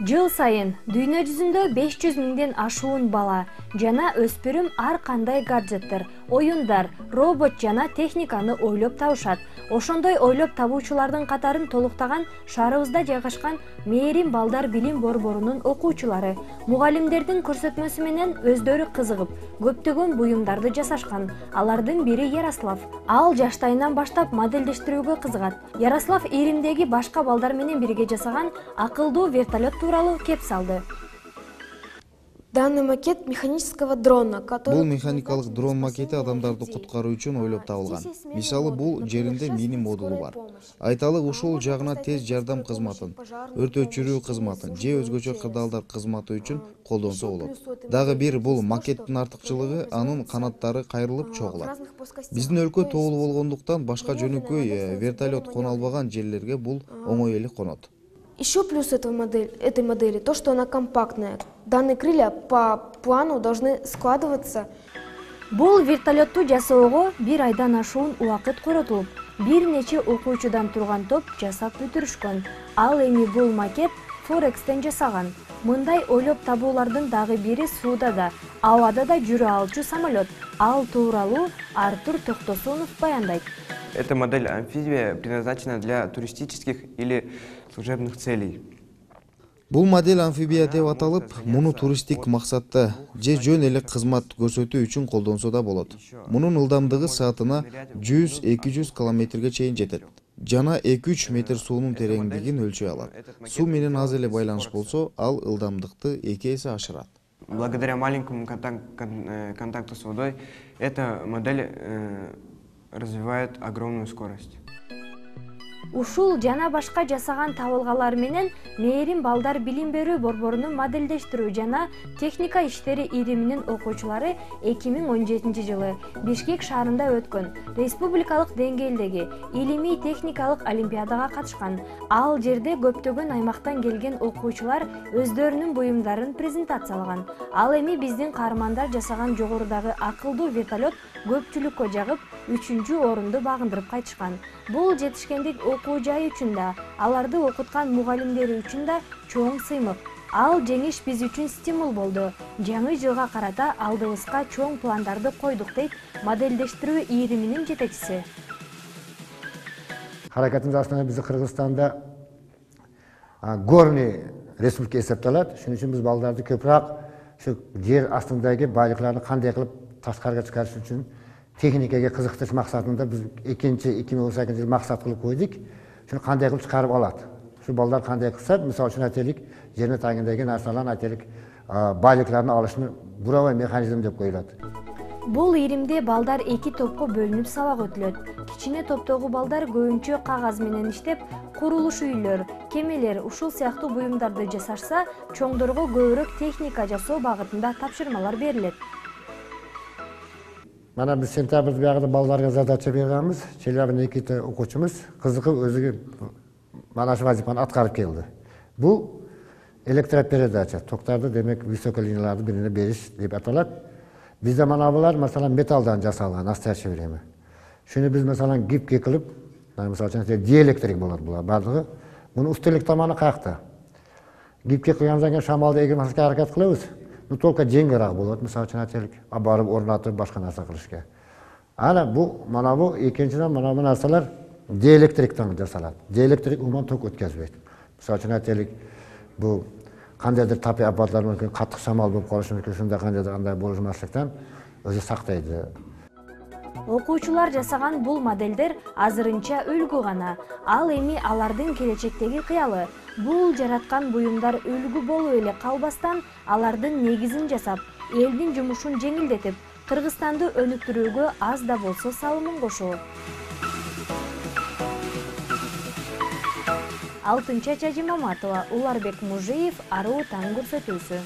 Жыл сайын дүйнө жүзүндө 500 миңден ашуун бала жана өспүрүм ар кандай гаджеттер, оюндар, робот жана техниканы ойлоп табышат. Ошондой ойлоп табуучулардын катарын толуктаган шаарыбызда жайгашкан Мээрим балдар билим борборунун окуучулары мугалимдердин көрсөтмөсү менен өздөрү кызыгып, көптөгөн буюмдарды жасашкан. Алардын бири Ярослав. Ал жаштайынан баштап модельдештирүүгө кызыгат. Ярослав Иримдеги башка балдар менен бирге жасаган акылдуу вертолет тууралуу кеп салды. Данный макет механического дрона, который... Бул механикалык дрон макети адамдарды куткаруу үчүн ойлоп табылган. Мисалы, бул жеринде мини модулу бар. Айталык ушул жагына тез жардам кызматын, өрт өчүрүү кызматын же өзгөчө кырдаалдар кызматы үчүн колдонсо болот. Дагы бир бул макеттин артыкчылыгы анын канаттары кайрылып чогулат. Биздин өлкө тоолуу болгондуктан башка жөнөкөй вертолет кона албаган жерлерге бул оңой эле конот. Еще плюс этой модели то, что она компактная. Данные крылья по плану должны складываться. Бул вертолетту жасоого бир айдан ашуун убакыт коротулуп, бир нече окуучудан турган топ жасап бүтүрүшкөн. Ал эми бул макет Форекстен жасаган. Мындай ойлоп табуулардын дагы бири сууда да, абада да жүрө алчу самолет. Ал тууралуу Артур Токтосунов баяндайт. Эта модель амфибия предназначена для туристических или служебных целей. Бул модель амфибия деп аталып, муну туристтик максатта же жөн эле кызмат көрсөтүү үчүн колдонсо да болот. Мунун ылдамдыгы саатына 100-200 километрге чейин жетет. Жана 2-3 метр суунун тереңдигин өлчөй алат. Суу менен аз эле байланыш болсо, ал ылдамдыкты 2 эсе ашырат. Благодаря маленькому контакту с водой, эта модель развивает огромную скорость. Ушул жана башка жасаган табылгалар менен Мээрим балдар билим берүү борборунун модельдештирүү жана техника иштери ириминин окуучулары 2017 жылы Бишкек шаарында өткөн республикалык деңгээлдеги илимий техникалык олимпиадага катышкан. Ал жерде көптөгөн аймактан келген окуучулар өздөрүнүн буюмдарын презентациялаган. Ал эми биздин каармандар жасаган жогорудагы акылдуу вертолет көпчүлүккө жагып 3-орунду багындырып кайтышкан. Бул жетишкендик окуу жайы үчүн да, аларды окуткан мугалимдери үчүн да чоң сыймык. Ал жеңиш биз үчүн стимул болду. Жаңы жылга карата алдыбызга чоң пландарды койдук, дейт модельдештирүү ириминин жетекчиси. Харакатыбыз астында биздин Кыргызстанда горный республика эсептелет. Шуның үчүн биз балдарды көбүрөөк ушу жер астындагы байлыкларды кандай кылып ташкарыга чыгарыш үчүн техникага кызыктырыш максатында биз 2018 жыл максат кылып койдук. Шуну кандай кылып чыгарып алат? Şu балдар кандай кылса, мисалы үчүн айтелик, жерне тагындагы нарсаларны айтелик, байлыкларын алышны буравай механизм деп коюлат. Бул иримде балдар 2 топко бөлүнүп сабак өтүлөт. Кичине топтогу балдар көбүнчө кагаз менен иштеп, курулуш үйлөр, кемелер, ушул сыяктуу буюмдарды жасашса, чоңдорго көбүрөөк техника жасоо багытында тапшырмалар берилет. Mana biz sentябрь bag'ida ballarga задача berganmiz. Chelyabinda 2 o'quvchimiz qiziqib o'ziga mana shu vazifani atqarib keldi. Bu elektroperedacha, toklarda demek высокий liniyalarni birine berish deb ataladi. Bizda mana bular masalan metaldan jasalgan nastoящее время. Shuni biz masalan gipga qilib, masalan dielektrik bo'ladi bular bardigi. Buni ustilik tomoni qayerda? Gipga qilgandan keyin shamolda egilmaslikka harakat qilamiz. Bu только жеңилирээк болот, мисалы үчүн айтелик, барып орнотуп башка нерсе кылышка. Ana bu, mana bu экинчиден mana bu narsalar диэлектриктен жасалат. Диэлектрик уман ток өткөзбөйт. Мисалы үчүн айтелик, bu кандайдыр тапи апатлар мүмкүн каттык шамал болуп калышы мүмкүн, ушундай кандайдыр болушмаслыктан өзү сактайт. Окуучулар жасаган бул моделдер азырынча үлгү гана. Ал эми алардын келечектеги кыялы. Бул жараткан буюмдар үлгү болуп эле калбастан, алардын негизин жасап, элдин жумушун жеңилдетип, Кыргызстанды өнүктүрүүгө аз да болсо салымын кошот. Алтынча Чажимаматова, Уларбек Мужиев, Аруу таң көрсөтүүсү.